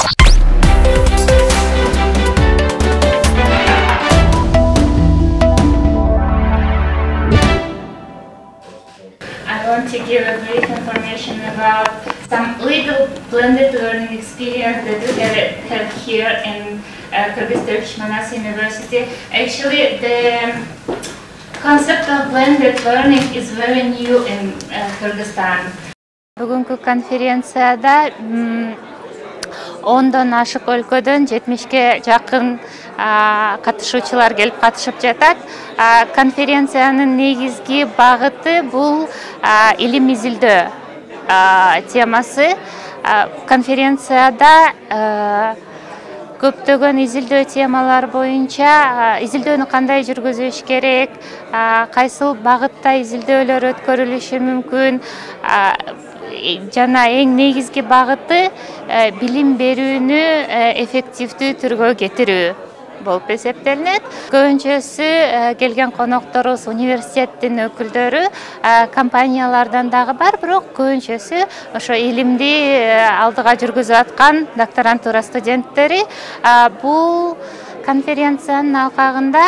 I want to give a brief information about some little blended learning experience that we have here in Kyrgyz Turkish Manas University. Actually, the concept of blended learning is very new in Kyrgyzstan. Бүгүнкү конференцияда 10дон ашык өлкөдөн 70ке жакын катышуучулар келип катышып жатат. Конференциянын негизги багыты бул илим изилдөө темасы. Конференцияда көптөгөн изилдөө темалар боюнча изилдөөнү кандай жүргүзүш керек, кайсыл багытта изилдөөлөр өткөрүлүшү мүмкүн, жана эң негизги багыты билим берүүнү эффективдүү түргө кетирүү болуп эсептелинет. Көбүнчөсү келген конокторубуз университеттин өкүлдөрү, компаниялардан дагы бар, бирок көбүнчөсү ошо илимди алдыга жүргүзүп аткан докторантура студенттери. Бул конференциянын алкагында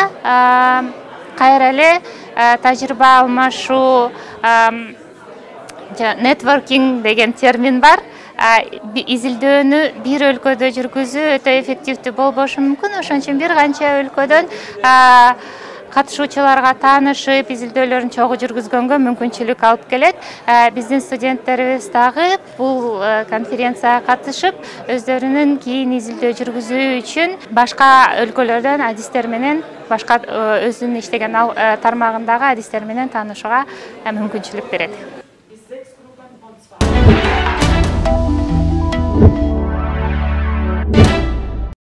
кайра эле тажрыйба алмашуу, networking деген термин бар. Изилдөөнү бир өлкөдө жүргүзүү өтө эффективдүү болбошу мүмкүн. Ошон үчүн бир канча өлкөдөн катышуучуларга таанышып, изилдөөлөрүн чогуу жүргүзгөнгө мүмкүнчүлүк алып келет. Биздин студенттерибиз дагы бул конференцияга катышып, өздөрүнүн кийин изилдөө жүргүзүү үчүн башка өлкөлөрдөн адистер менен, башка өзүнүн иштеген тармагындагы адистер менен таанышууга мүмкүнчүлүк берет.